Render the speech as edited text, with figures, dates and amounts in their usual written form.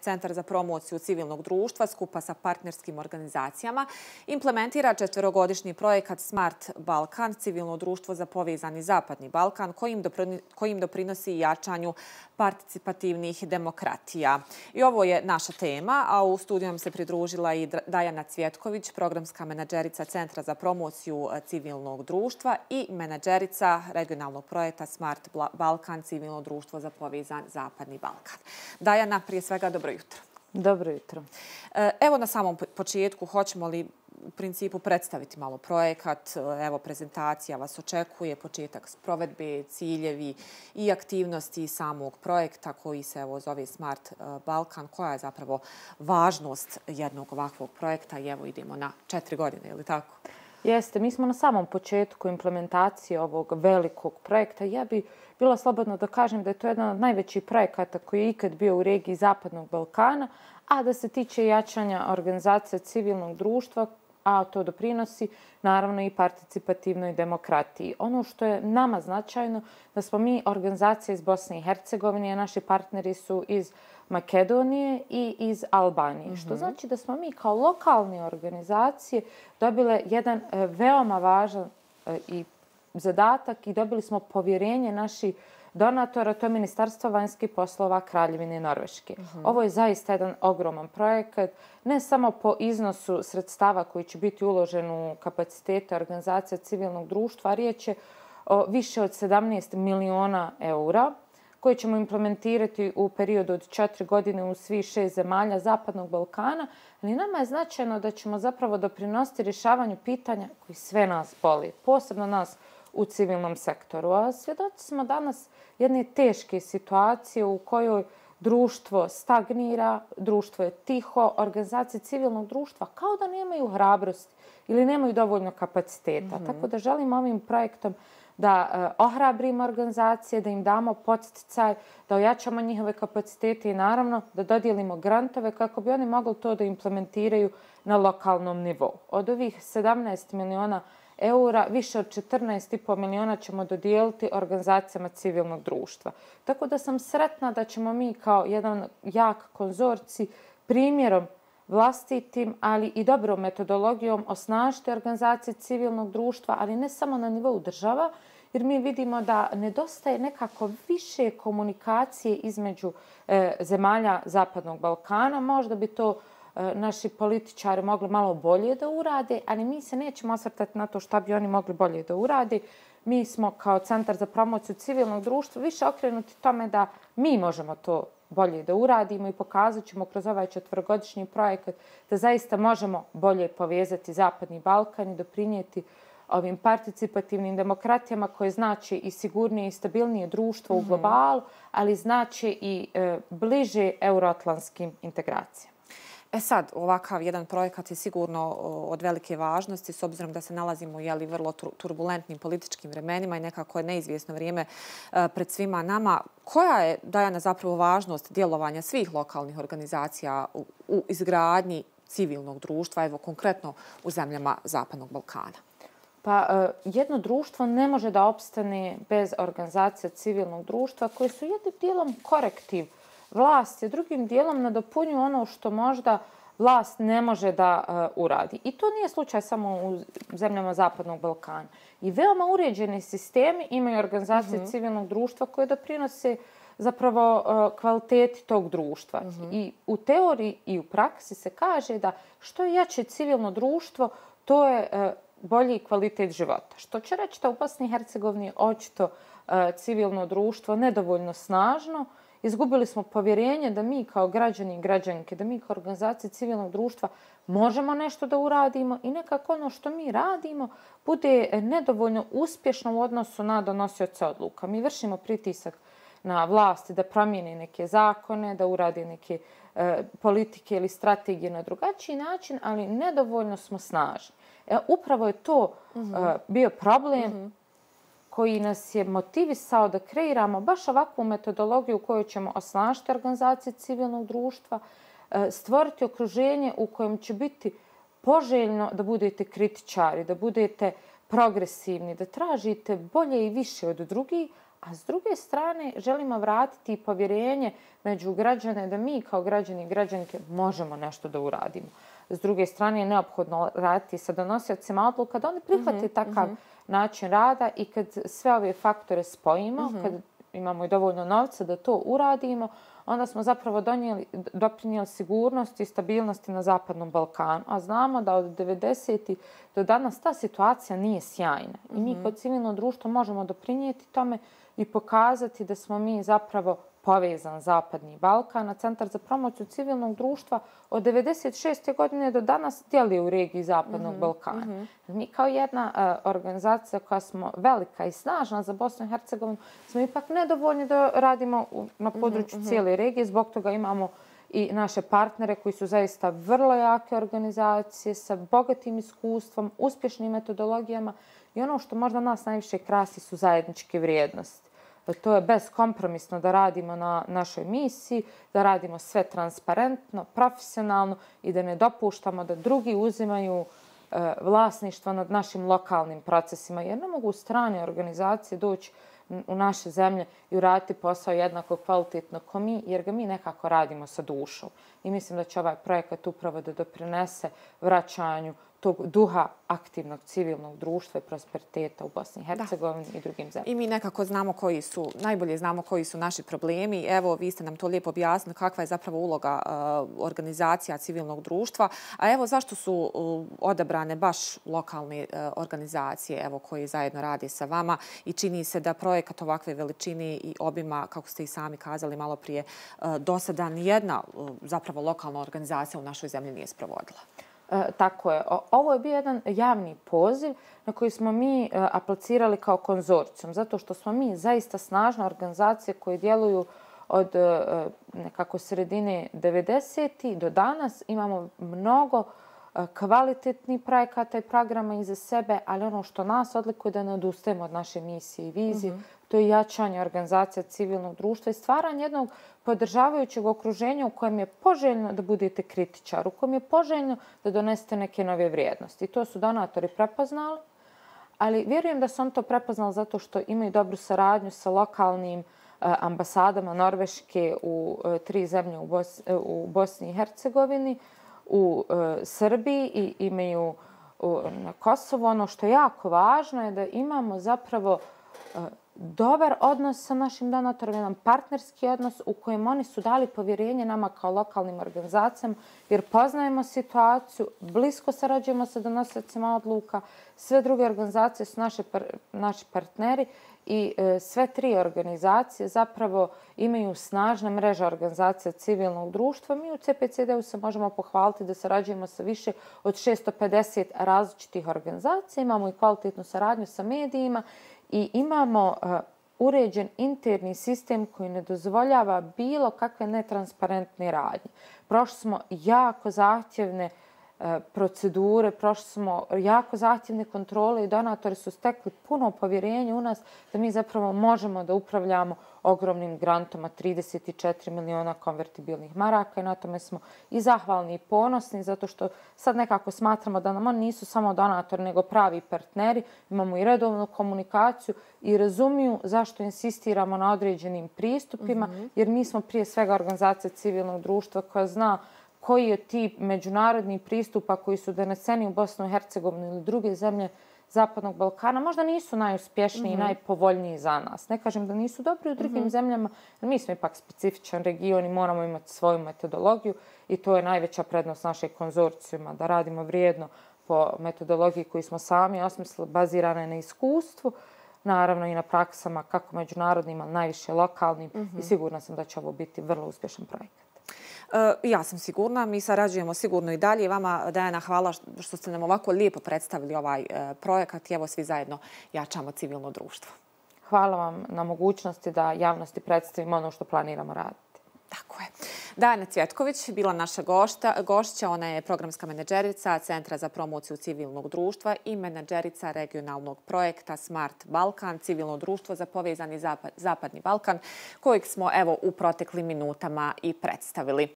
Centar za promociju civilnog društva skupa sa partnerskim organizacijama implementira 4-godišnji projekat Smart Balkan, civilno društvo za povezani Zapadni Balkan, kojim doprinosi jačanju participativnih demokratija. I ovo je naša tema, a u studiju nam se pridružila i Dajana Cvjetković, programska menadžerica Centra za promociju civilnog društva i menadžerica regionalnog projekta Smart Balkan, civilno društvo za povezan Zapadni Balkan. Dajana, prije svega, dobro jutro. Dobro jutro. Evo na samom početku, hoćemo li u principu predstaviti malo projekat? Evo, prezentacija vas očekuje, početak provedbe, ciljevi i aktivnosti samog projekta koji se zove Smart Balkan. Koja je zapravo važnost jednog ovakvog projekta? I evo idemo na 4 godine, je li tako? Jeste, mi smo na samom početku implementacije ovog velikog projekta. Ja bi bila slobodno da kažem da je to jedan od najvećih projekata koji je ikad bio u regiji Zapadnog Balkana, a da se tiče jačanja organizacija civilnog društva, a to doprinosi naravno i participativnoj demokratiji. Ono što je nama značajno da smo mi organizacija iz Bosne i Hercegovine, a naši partneri su iz Makedonije i iz Albanije. Što znači da smo mi kao lokalne organizacije dobile jedan veoma važan i zadatak i dobili smo povjerenje naših donatora, to je Ministarstvo vanjskih poslova Kraljevine Norveške. Ovo je zaista jedan ogroman projekat, ne samo po iznosu sredstava koji će biti uložen u kapacitete organizacija civilnog društva, riječ je o više od 17 miliona eura koje ćemo implementirati u periodu od 4 godine u svih 6 zemalja Zapadnog Balkana, ali nama je značajno da ćemo zapravo doprinositi rješavanju pitanja koji sve nas boli, posebno nas u civilnom sektoru. A svjedoci smo danas jedne teške situacije u kojoj društvo stagnira, društvo je tiho, organizacije civilnog društva kao da nemaju hrabrosti ili nemaju dovoljno kapaciteta. Tako da želimo ovim projektom da ohrabrimo organizacije, da im damo podsticaj, da ojačamo njihove kapacitete i naravno da dodijelimo grantove kako bi oni mogli to da implementiraju na lokalnom nivou. Od ovih 17 miliona eura, više od 14,5 miliona ćemo dodijeliti organizacijama civilnog društva. Tako da sam sretna da ćemo mi kao jedan jak konzorcij primjerom vlastitim, ali i dobrom metodologijom osnažiti organizacije civilnog društva, ali ne samo na nivou država, jer mi vidimo da nedostaje nekako više komunikacije između zemalja Zapadnog Balkana. Možda bi to naši političari mogli malo bolje da urade, ali mi se nećemo osvrtati na to šta bi oni mogli bolje da urade. Mi smo kao Centar za promociju civilnog društva više okrenuti tome da mi možemo to bolje da uradimo i pokazat ćemo kroz ovaj 4-godišnji projekat da zaista možemo bolje povezati Zapadni Balkan i doprinijeti ovim participativnim demokratijama koje znači i sigurnije i stabilnije društvo u globalu, ali znači i bliže euroatlantskim integracijama. Sad, ovakav jedan projekat je sigurno od velike važnosti s obzirom da se nalazimo u vrlo turbulentnim političkim vremenima i nekako je neizvjesno vrijeme pred svima nama. Koja je, Dajana, zapravo važnost djelovanja svih lokalnih organizacija u izgradnji civilnog društva, evo konkretno u zemljama Zapadnog Balkana? Pa jedno društvo ne može da opstane bez organizacija civilnog društva koje su jednim dijelom korektiv vlasti, drugim dijelom nadopunjuju ono što možda vlast ne može da uradi. I to nije slučaj samo u zemljama Zapadnog Balkana. I veoma uređeni sistemi imaju organizacije civilnog društva koje doprinose zapravo kvaliteti tog društva. I u teoriji i u praksi se kaže da što je jače civilno društvo, to je bolji kvalitet života. Što će reći da u Bosni i Hercegovini očito civilno društvo nedovoljno snažno. Izgubili smo povjerenje da mi kao građani i građanke, da mi kao organizacije civilnog društva možemo nešto da uradimo i nekako ono što mi radimo bude nedovoljno uspješno u odnosu na donosioce odluka. Mi vršimo pritisak na vlasti da promijene neke zakone, da urade neke politike ili strategije na drugačiji način, ali nedovoljno smo snažni. Upravo je to bio problem koji nas je motivisao da kreiramo baš ovakvu metodologiju u kojoj ćemo osnažiti organizacije civilnog društva, stvoriti okruženje u kojem će biti poželjno da budete kritičari, da budete progresivni, da tražite bolje i više od drugih, a s druge strane želimo vratiti povjerenje među građane da mi kao građani i građanke možemo nešto da uradimo. S druge strane je neophodno raditi sa donosiocima odluka da oni prihvate takav način rada i kad sve ove faktore spojimo, kad imamo i dovoljno novca da to uradimo, onda smo zapravo doprinijeli sigurnosti i stabilnosti na Zapadnom Balkanu. A znamo da od 90. do danas ta situacija nije sjajna. I mi kao civilno društvo možemo doprinijeti tome i pokazati da smo mi zapravo povezan Zapadni Balkan, a Centar za promociju civilnog društva od 96. godine do danas djeluje u regiji Zapadnog Balkana. Mi kao jedna organizacija koja smo velika i snažna za Bosnu i Hercegovinu smo ipak nedovoljni da radimo na području cijele regije. Zbog toga imamo i naše partnere koji su zaista vrlo jake organizacije sa bogatim iskustvom, uspješnim metodologijama i ono što možda nas najviše krasi su zajedničke vrijednosti. To je beskompromisno da radimo na našoj misiji, da radimo sve transparentno, profesionalno i da ne dopuštamo da drugi uzimaju vlasništvo nad našim lokalnim procesima. Jer ne mogu strane organizacije doći u naše zemlje i uraditi posao jednako kvalitetno kao mi, jer ga mi nekako radimo sa dušom. I mislim da će ovaj projekat upravo da doprinese vraćanju tog duha aktivnog civilnog društva i prosperiteta u Bosni i Hercegovini i drugim zemljama. I mi nekako znamo najbolje znamo koji su naši problemi. Evo, vi ste nam to lijepo objasnili kakva je zapravo uloga organizacija civilnog društva. A evo, zašto su odabrane baš lokalne organizacije evo, koje zajedno rade sa vama i čini se da projekat ovakve veličine i obima, kako ste i sami kazali malo prije, do sada nijedna zapravo lokalna organizacija u našoj zemlji nije sprovodila? Tako je. Ovo je bio jedan javni poziv na koji smo mi aplicirali kao konzorcijum, zato što smo mi zaista snažna organizacija koje djeluju od nekako sredine 90. do danas. Imamo mnogo kvalitetnih projekata i programa iza sebe, ali ono što nas odlikuje da ne odustajemo od naše misije i vizije, to je jačanje organizacija civilnog društva i stvaranje jednog podržavajućeg okruženja u kojem je poželjno da budete kritičar, u kojem je poželjno da donesete neke nove vrijednosti. I to su donatori prepoznali, ali vjerujem da su on to prepoznali zato što imaju dobru saradnju sa lokalnim ambasadama Norveške u 3 zemlje u Bosni i Hercegovini, u Srbiji i imaju na Kosovu. Ono što je jako važno je da imamo zapravo dobar odnos sa našim donatorima, jedan partnerski odnos u kojem oni su dali povjerenje nama kao lokalnim organizacijama jer poznajemo situaciju, blisko sarađujemo sa donosiocima odluka, sve druge organizacije su naši partneri i sve 3 organizacije zapravo imaju snažne mreže organizacija civilnog društva. Mi u CPCD-u se možemo pohvaliti da sarađujemo sa više od 650 različitih organizacija, imamo i kvalitetnu saradnju sa medijima i imamo uređen interni sistem koji ne dozvoljava bilo kakve netransparentne radnje. Prošli smo jako zahtjevne procedure, prošli smo jako zahtjevne kontrole i donatori su stekli puno povjerenja u nas da mi zapravo možemo da upravljamo ogromnim grantoma 34 miliona konvertibilnih maraka i na tome smo i zahvalni i ponosni zato što sad nekako smatramo da nam oni nisu samo donatori nego pravi partneri, imamo i redovnu komunikaciju i razumiju zašto insistiramo na određenim pristupima jer mi smo prije svega organizacija civilnog društva koja zna koji je tip međunarodnih pristupa koji su doneseni u Bosnu i Hercegovinu ili druge zemlje Zapadnog Balkana, možda nisu najuspješniji i najpovoljniji za nas. Ne kažem da nisu dobri u drugim zemljama, jer mi smo ipak specifičan region i moramo imati svoju metodologiju i to je najveća prednost našeg konzorcijuma, da radimo vrijedno po metodologiji koju smo sami osmislili, bazirane na iskustvu, naravno i na praksama kako međunarodnim, ali najviše lokalnim i sigurna sam da će ovo biti vrlo uspješan projekat. Ja sam sigurna, mi sarađujemo sigurno i dalje. Vama, Dejana, hvala što ste nam ovako lijepo predstavili ovaj projekat i evo svi zajedno jačamo civilno društvo. Hvala vam na mogućnosti da javnosti predstavimo ono što planiramo raditi. Tako je. Dejana Cvjetković bila naša gošća. Ona je programska menadžerica Centra za promociju civilnog društva i menadžerica regionalnog projekta Smart Balkan, civilno društvo za povezani Zapadni Balkan, kojeg smo evo u proteklim minutama i predstavili.